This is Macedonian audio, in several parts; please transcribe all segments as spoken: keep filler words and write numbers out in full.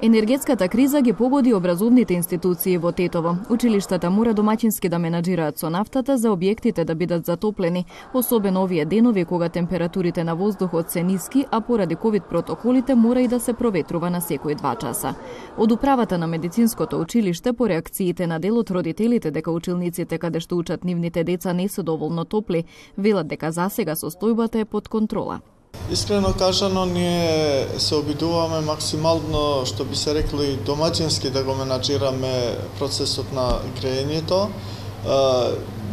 Енергетската криза ги погоди образовните институции во Тетово. Училиштата мора домаќински да менаџираат со нафтата за објектите да бидат затоплени, особено овие денови кога температурите на воздухот се ниски, а поради ковид протоколите мора и да се проветрува на секои два часа. Од управата на медицинското училиште по реакциите на дел од родителите дека училниците каде што учат нивните деца не се доволно топли, велат дека засега состојбата е под контрола. Искрено кажано, ние се обидуваме максимално, што би се рекли, домаќински да го менаџираме процесот на грејењето.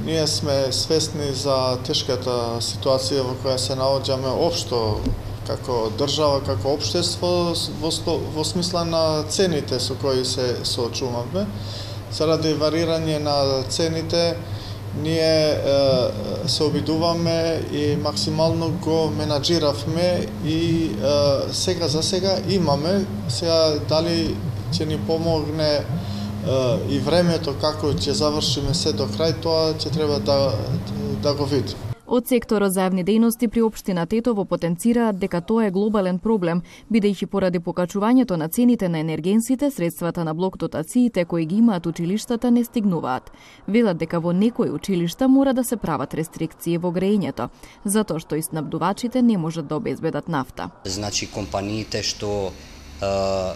Ние сме свесни за тешката ситуација во која се наоѓаме општо како држава, како општество, во, во смисла на цените со кои се соочуваме. Заради варирање на цените, ние е, се обидуваме и максимално го менаџиравме и е, сега за сега имаме. Сега дали ќе ни помогне е, и времето како ќе завршиме се до крај, тоа ќе треба да, да го видиме. Од секторот за јавни дејности при општина Тетово потенцираат дека тоа е глобален проблем, бидејќи поради покачувањето на цените на енергенсите, средствата на блок дотациите кои ги имаат училиштата не стигнуваат. Велат дека во некои училишта мора да се прават рестрикции во грејењето, затоа што и снабдувачите не можат да обезбедат нафта. Значи компаниите што е,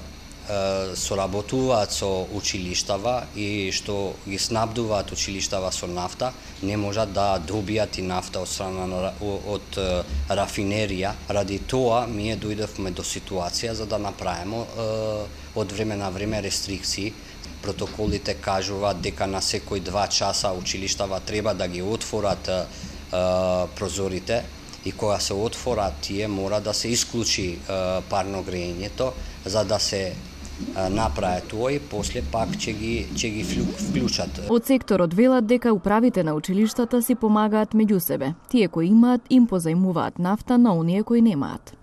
соработуваат со училиштава и што ги снабдуваат училиштава со нафта, не можат да добијат и нафта од страна од рафинерија. Ради тоа ние дојдовме до ситуација за да направиме од време на време рестрикции. Протоколите кажуваат дека на секои два часа училиштава треба да ги отворат прозорите и кога се отворат тие мора да се исклучи парно грејењето за да се направи тоа и после пак ќе ги ќе ги вклучат. Од секторот велат дека управите на училиштата си помагаат меѓу себе. Тие кои имаат им позајмуваат нафта на оние кои немаат.